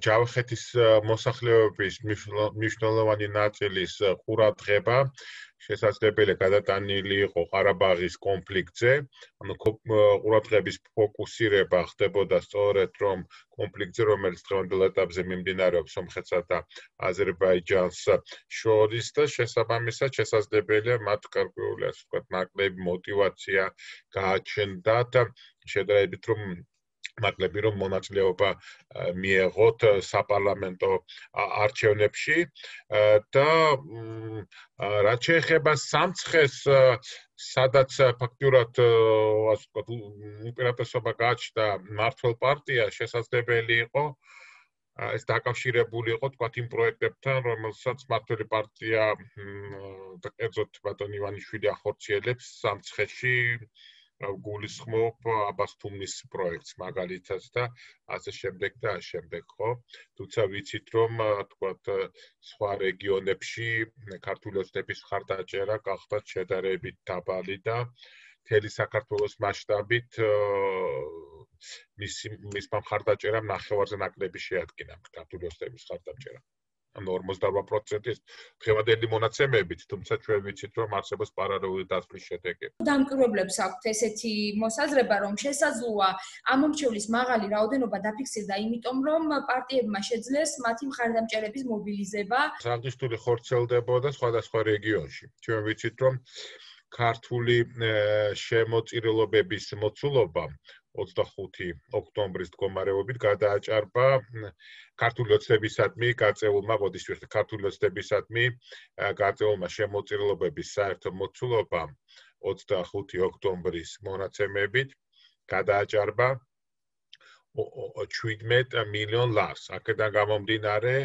ჯავახეთის მოსახლეობის მნიშვნელოვანი ნაწილის ყურადღება შესაძლებელია გადატანილი იყო ყარაბაღის კონფლიქტზე, ანუ ყურადღების ფოკუსირება ხდებოდა სწორედ რომ კონფლიქტზე, რომელიც დღევანდელ ეტაპზე მიმდინარეობს სომხეთსა და აზერბაიჯანს შორის და შესაბამისად შესაძლებელია მათ გარკვეული ასე ვთქვათ ნაკლები мотиваცია გააჩნდათ შედარებით რომ მონაწილეობა მიეღოთ საპარლამენტო არჩევნებში და რაც შეეხება სამცხეს სადაც ფაქტურად ასე ვთქვათ უპირატესობა გააჩნდა მმართველ პარტიას შესაძლებელი იყო ეს დაკავშირებული იყო თქვათ იმ პროექტებთან რომელსაც მმართველი პარტია და კერძოდ ბატონ ივანიშვილი ახორციელებს სამცხეში გულისხმობ აბას თუმნის პროექტს მაგალითად და ასე შემდეგ და ამ შემდეგ ხო თუმცა ვიცით რომ თქვათ სხვა რეგიონებში ქართული ოცნების მხარდაჭერა გახდა შედარებით დაბალი და მთელი საქართველოს მასშტაბით მის მხარდაჭერამ ნახევარზე ნაკლები შეადგინა ქართული ოცნების მხარდაჭერა ანუ 48% დღევანდელი მონაცემებით, თუმცა ჩვენ ვიცით, რომ არსებობს პარალელური დაცვის შედეგები. დამკვირვებლებს აქვთ ესეთი მოსაზრება, რომ შესაძლოა ამომრჩევლის მაღალი რაოდენობა დაფიქსირდა, იმიტომ რომ პარტიებმა შეძლეს მათი მხარდამჭერების მობილიზება. აღნიშნული ხორციელდებოდა სხვადასხვა რეგიონში. ჩვენ ვიცით, რომ ქართული შემოწირულობების მოცულობა 25 ოქტომბრის მდგომარეობით გადააჭარბა ქართული ოცნებისადმი გაწეულმა ქართული ოცნებისადმი გაწეულმა შემოწირულობების საერთო მოცულობა 25 ოქტომბრის მონაცემებით გადააჭარბა 17 მილიონ ლარს. აქედან გამომდინარე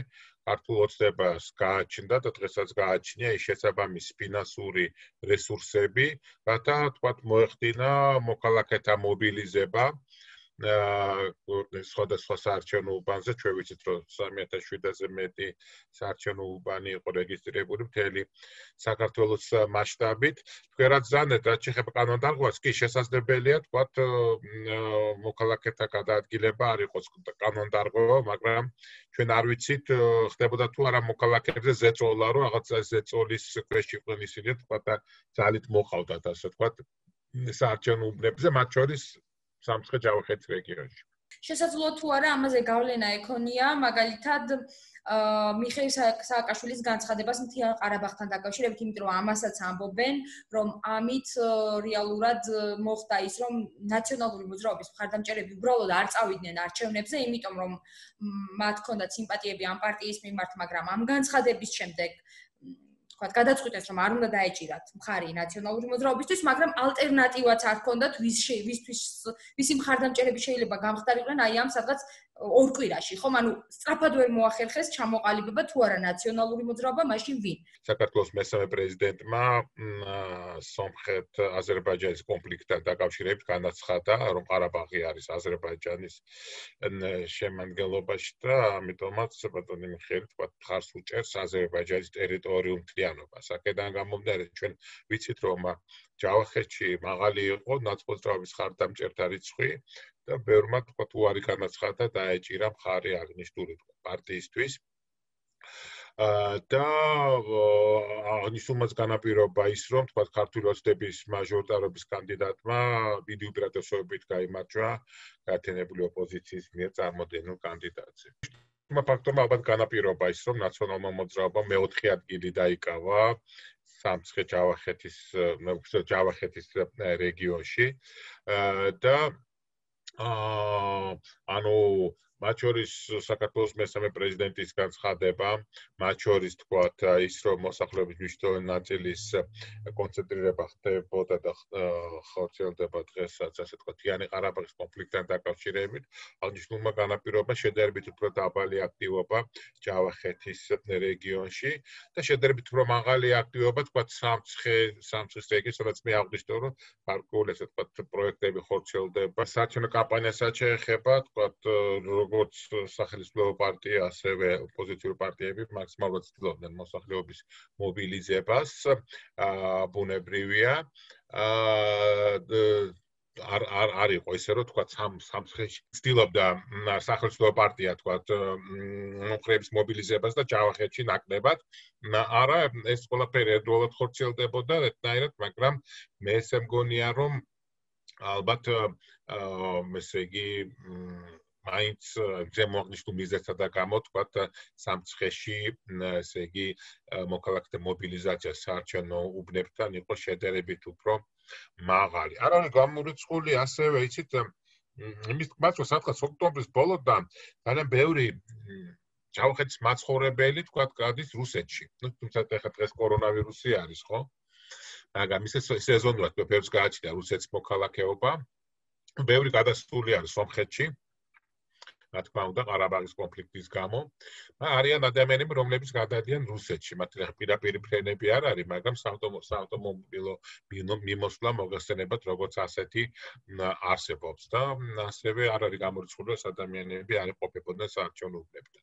ქართულ ოცნებას გააჩნდა და დღესაც გააჩნია ის შესაბამისი ფინანსური რესურსები, რათა თქვათ მოეხდინა მოქალაქეთა მობილიზება სხვადასხვა საარჩევნო უბანზე ჩვენ ვიცით რომ 3700-ზე მეტი საარჩევნო უბანი იყო რეგისტრირებული მთელი საქართველოს მასშტაბით. თქვენაც ზანეთ რაც შეეხება კანონდარღვევას კი შესაძლებელია თქვათ მოქალაქეთა გადაადგილება არ იყოს კანონდარღვევა, მაგრამ ჩვენ არ ვიცით ხდებოდა თუ არა მოქალაქეებზე ზეწოლა რომ რაღაცა ზეწოლის ქვეშ იყვნენ ისინი თქვათ და ძალით მოყავდათ ასე თქვათ საარჩევნო უბნებზე მათ შორის სამცხე ჯავახეთის რეგიონში. შესაძლოა თუ არა ამაზე გავლენა ექონია მაგალითად მიხეილ სააკაშვილის განცხადებას მთიან ყარაბაღთან დაკავშირებით, იმიტომ რომ ამასაც ამბობენ, რომ ამით რეალურად მოხდა ის, რომ ნაციონალური მოძრაობის მხარდამჭერები უბრალოდ არ წავიდნენ არჩევნებზე, იმიტომ რომ მათ ჰქონდათ სიმპათიები ამ პარტიის მიმართ, მაგრამ ამ განცხადების შემდეგ გადაწყვიტეს რომ არ უნდა დაეჭირათ მხარი ნაციონალური მოძრაობისთვის, მაგრამ ალტერნატივაც არ ჰქონდათ ვისი მხარდამჭერები შეიძლება გამხდარიყვნენ აი ამ სადღაც ორ კვირაში, ხომ? ანუ სწრაფად ვერ მოახერხეს ჩამოყალიბება თუ არა ნაციონალური მოძრაობა, მაშინ ვინ? საქართველოს მესამე პრეზიდენტმა სომხეთ-აზერბაიჯანის კონფლიქტთან დაკავშირებით განაცხადა, რომ ყარაბაღი არის აზერბაიჯანის შემადგენლობაში და ამიტომაც ბატონი მიხეილი თქვათ მხარს უჭერს აზერბაიჯანის ტერიტორიულ მთლიანობას. აქედან გამომდინარე ჩვენ ვიცით რომ ჯავახეთში მაღალი იყო ნაცმოძრაობის მხარდამჭერთა რიცხვი და ბევრმა თქვათ უარი განაცხადა დაეჭირა მხარი აღნიშნული პარტიისთვის. და აღნიშნულმაც განაპირობა ის რომ თქვათ ქართული ოცნების მაჟორიტარობის კანდიდატმა დიდი უპირატესობით გაიმარჯვა გაერთიანებული ოპოზიციის მიერ წარმოდენილ კანდიდატზე. ფაქტორმა ალბათ განაპირობა ის რომ ნაციონალურმა მოძრაობამ მეოთხე ადგილი დაიკავა სამცხე ჯავახეთის რეგიონში და ანუ მათ შორის საქართველოს მესამე პრეზიდენტის განცხადება, მათ შორის თქვათ ის რომ მოსახლეობის მნიშვნელოვანი ნაწილის კონცენტრირება ხდებოდა და ხორციელდება დღესაც ასე თქვათ მთიანი ყარაბაღის კონფლიქტთან დაკავშირებით, აღნიშნულმა განაპირობა შედარებით უფრო დაბალი აქტივობა ჯავახეთის რეგიონში და შედარებით უფრო მაღალი აქტივობა თქვათ სამცხის რეგიონში, სადაც მე აღვნიშნე რომ გარკვეული ასე თქვათ პროექტები ხორციელდება საარჩევნო კამპანიასაც შეეხება თქვათ როგორც სახელმწიფო პარტია, ასევე ოპოზიციური პარტიები მაქსიმალურად ცდილობდნენ მოსახლეობის მობილიზებას, ბუნებრივია. არ იყო ისე რომ თქვა სამცხეში ცდილობდა სახელმწიფო პარტია თქვა მომხრეების მობილიზებას და ჯავახეთში ნაკლებად არა ეს ყველაფერი ერთდროულად ხორციელდებოდა ერთნაირად მაგრამ მე ესე მგონია რომ ალბათ ესე იგი მაინც ზემოაღნიშნულ მიზეზთა გამო თქვა სამცხეში ესე იგი მოქალაქეთა მობილიზაცია საარჩევნო უბნებთან იყო შედარებით უფრო მაღალი. არ არის გამორიცხული ასევე იცით იმის თქმაც რომ სადღაც ოქტომბრის ბოლოდან ძალიან ბევრი ჯავახეთის მაცხოვრებელი თქვა გადის რუსეთში. თუმცა ეხლა დღეს კორონავირუსი არის, ხო? მაგრამ ისე სეზონურად ბევრს გააჩნია რუსეთის მოქალაქეობა. ბევრი გადასული არის სომხეთში. რა თქმა უნდა, ყარაბაღის კონფლიქტის გამო. არიან ადამიანები, რომლებიც გადადიან რუსეთში. მათ პირდაპირ ფრენები არ არის, მაგრამ საავტომობილო მიმოსვლა მოგხსენებათ, როგორც ასეთი არსებობს და ასევე არ არის გამორიცხული, რომ ადამიანები არ იყოფებოდნენ საარჩევნო უბნებთან.